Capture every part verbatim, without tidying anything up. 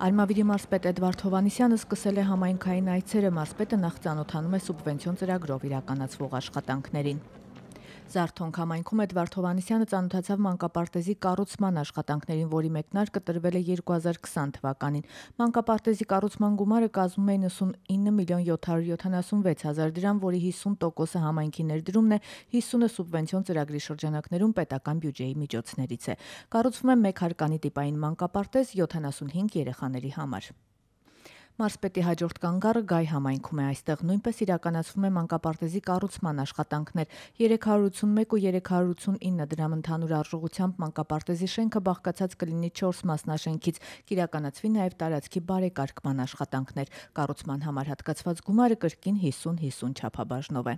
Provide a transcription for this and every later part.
Արմավիրի մարզպետ Էդվարդ Հովհաննիսյանը սկսել է համայնքային այցերը, մարզպետը նախ ծանոթանում է սուբվենցիոն ծրագրով իրականացվող աշխատանքներին։ Զարթոնք համայնքում Էդվարդ Հովհաննիսյանը ծանոթացավ մանկապարտեզի կառուցման աշխատանքներին, որի մեկնարկը տրվել է երկու հազար քսան թվականին։ Մանկապարտեզի կառուցման գումարը կազմում է նվաթինը միլիոն յոթ հարյուր յոթանասունվեց հազար դրամ, որի հիսուն տոկոսը համայնքի ներդրումն է, հիսունը սուբվենցիոն ծրագրի շրջանակներում պետական բյուջեի միջոցներից է։ Կառուցվում է մեկ հարկանի տիպային մանկապարտեզ յոթանասունհինգ երեխաների համար։ Մարզպետի հաջորդ կանգառը Գայ համայնքում է, այստեղ նույնպես իրականացվում է մանկապարտեզի կառուցման աշխատանքներ։ երեք հարյուր ութսունմեկ ու երեք հարյուր ութսունինը դրամ ընդհանուր արժողությամբ մանկապարտեզի շենքը բաղկացած կլինի չորս մասնաշենքից, կիրականացվի նաև տարածքի բարեկարգման աշխատանքներ։ Կառուցման համար հատկացված գումարը կրկին հիսուն հիսուն չափաբաժնով է։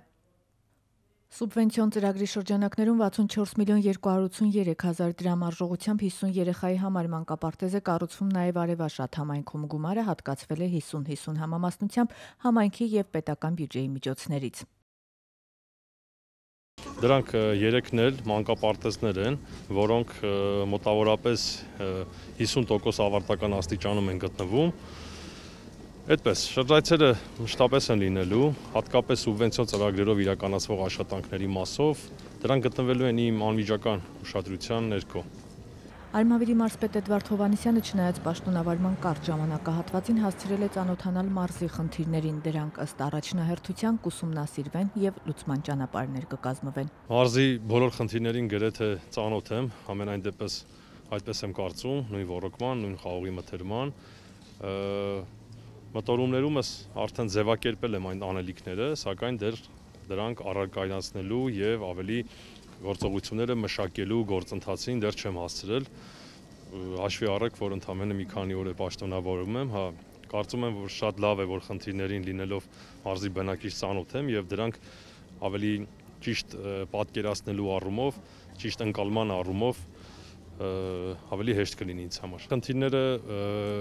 Սուբվենցիոն ծրագրի շրջանակներում վաթսունչորս միլիոն երկու հարյուր ութսուներեք հազար դրամ արժողությամբ հիսուն երեխայի համար մանկապարտեզ է կառուցվում նաև Արևաշատ համայնքում, գումարը հատկացվել է հիսուն հիսուն համամասնությամբ համայնքի և պետական բյուջեի միջոցներից։ Դրանք երեքն էլ մանկապարտեզներ են, որոնք մոտավորապես հիսուն տոկոս ավարտական աստիճանում են գտնվում։ Այդպես, շրջայցերը մշտապես են լինելու, հատկապես սուբվենցիոն ծրագրերով իրականացվող աշխատանքների մասով, դրանք գտնվելու են իմ անմիջական ուշադրության ներքո։ Արմավիրի մարզպետ Էդվարդ Հովհաննիսյանը չնայած պաշտոնավարման կարճ ժամանակահատվածին հասցրել է ծանոթանալ մարզի խնդիրներին, դրանք ըստ առաջնահերթության կուսումնասիրվեն և լուծման ճանապարհներ կկազմվեն։ Մարզի բոլոր խնդիրներին գրեթե ծանոթ եմ, համենայն դեպս այդպես եմ կարծում, նույն ոռոգման, նույն խաղողի մթերման։ Մտորումներումս արդեն ձևակերպել եմ այն անելիքները, սակայն դեռ դրանք առարկայացնելու և ավելի գործողությունները մշակելու գործընթացին դեռ չեմ հասցրել։ Հաշվի առեք, որ ընդամենը մի քանի օր է պաշտոնավորում եմ, հա, կարծում եմ, որ շատ լավ է, որ խնդիրներին լինելով մարզի բնակիչ ծանոթ եմ և դրանք ավելի ճիշտ պատկերացնելու առումով, ճիշտ ընկալման առումով ավելի հեշտ կլինի ինձ համար։ Խնդիրները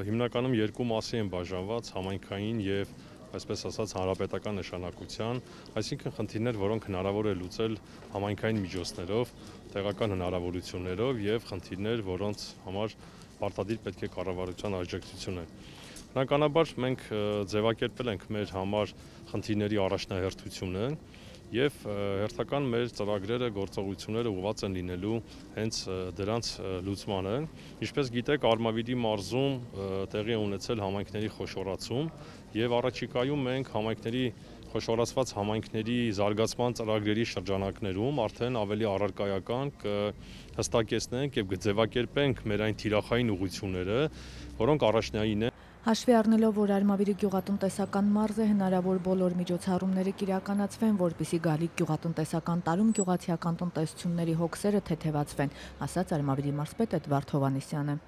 հիմնականում երկու մասի են բաժանված՝ համայնքային և այսպես ասած հանրապետական նշանակության, այսինքն խնդիրներ, որոնք հնարավոր է լուծել համայնքային միջոցներով, տեղական հնարավորություններով և խնդիրներ, որոնց համար պարտադիր պետք է կառավարության աջակցությունը։ Բնականաբար մենք ձևակերպել ենք մեր համար խնդիրների առաջնահերթությունը և հերթական մեր ծրագրերը, գործողությունները ուղղված են լինելու հենց դրանց լուծմանը։ Ինչպես գիտեք, Արմավիրի մարզում տեղի է ունեցել համայնքների խոշորացում և առաջիկայում մենք համայնքների խոշորացված համայնքների զարգացման ծրագրերի շրջանակներում արդեն ավելի առարկայական կհստակեցնենք և կձևակերպենք մեր այն թիրախային ուղղությունները, որոնք առաջնային են։ Հաշվի առնելով, որ Արմավիրը գյուղատնտեսական մարզ է, հնարավոր բոլոր միջոցառումները կիրականացվեն, որպեսզի գալիք գյուղատնտեսական տարում գյուղացիական տնտեսությունների հոգսերը թեթևացվեն, ասաց Արմավիրի մարզպետ Էդվարդ Հովհաննիսյանը։